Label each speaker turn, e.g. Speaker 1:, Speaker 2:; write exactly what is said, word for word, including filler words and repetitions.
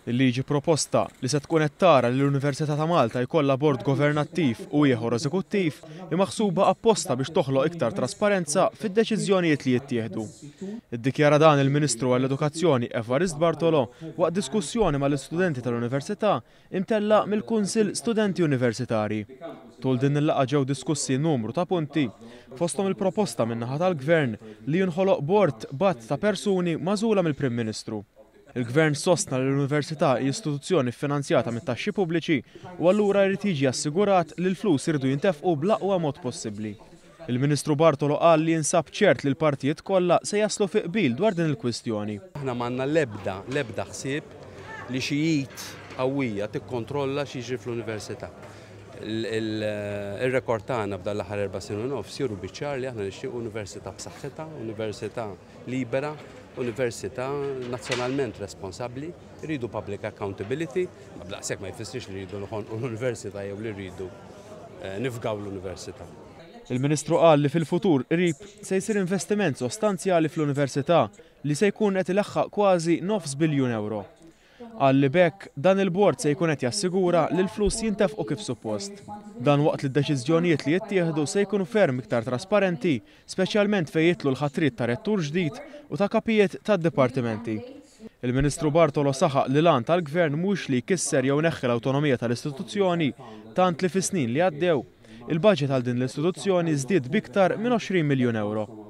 Speaker 1: Il-liġi proposta li se tkun qed tara li l-Università ta' Malta jkollha bord governattiv u ieħor eżekuttiv hi maħsuba apposta biex toħloq iktar trasparenza fid-deċiżjonijiet li jittieħdu. Iddikjara dan il-Ministru għall-Edukazzjoni Evarist Bartolo waqt diskussjoni mal-istudenti tal-Università imtella' mill-Kunsill Studenti Universitari. Tul din il-laqgħa ġew diskussi numru ta' punti, fosthom il-proposta min-naħa tal-Gvern li jinħoloq bord b'għadd ta' persuni magħżula mill-Prim Ministru. Il-Gvern sostna li l-Università hi istituzzjoni ffinanzjata mit-taxxi pubbliċi u allura jrid jiġi assigurat li l-flus iridu jintefqu bl-aqwa mod possibbli. Il-Ministru Bartolo qal li jinsab ċert li l-partijiet kollha se jaslu fi qbil dwar din il-kwistjoni.
Speaker 2: Aħna m'għandna l-ebda l-ebda ħsieb li xi id qawwija tikkontrolla x'jiġri fl-università. Ir-rekord tagħna f'dan l-aħħar erba' snin u nofs juru biċ-ċar li aħna nixtiequ università b'saħħitha, università libera, università nazzjonalment responsabbli, rridu public accountability, ma b'daqshekk ma jfissirx li rridu noħonqu l-università jew li rridu nifgaw l-università.
Speaker 1: Il-Ministru qal li fil-futur qrib se jsir investiment sostanzjali fl-università li se jkun qed ilaħħaq kważi nofs biljun euro. Qal li b'hekk dan il-bord se jkun qed jassigura li l-flus jintefqu kif suppost. Dan waqt li d-deċiżjonijiet li jittieħdu se jkunu ferm iktar trasparenti, speċjalment fejn jidħlu l-ħatriet ta' rettur ġdid u ta' kapijiet tad-dipartimenti. Il-Ministru Bartolo saħaq li l-għan tal-Gvern mhux li jkisser jew ineħħi l-awtonomija tal-istituzzjoni, tant li fis-snin li għaddew il-budget għal din l-istituzzjoni żdied b'iktar minn għoxrin miljun euro.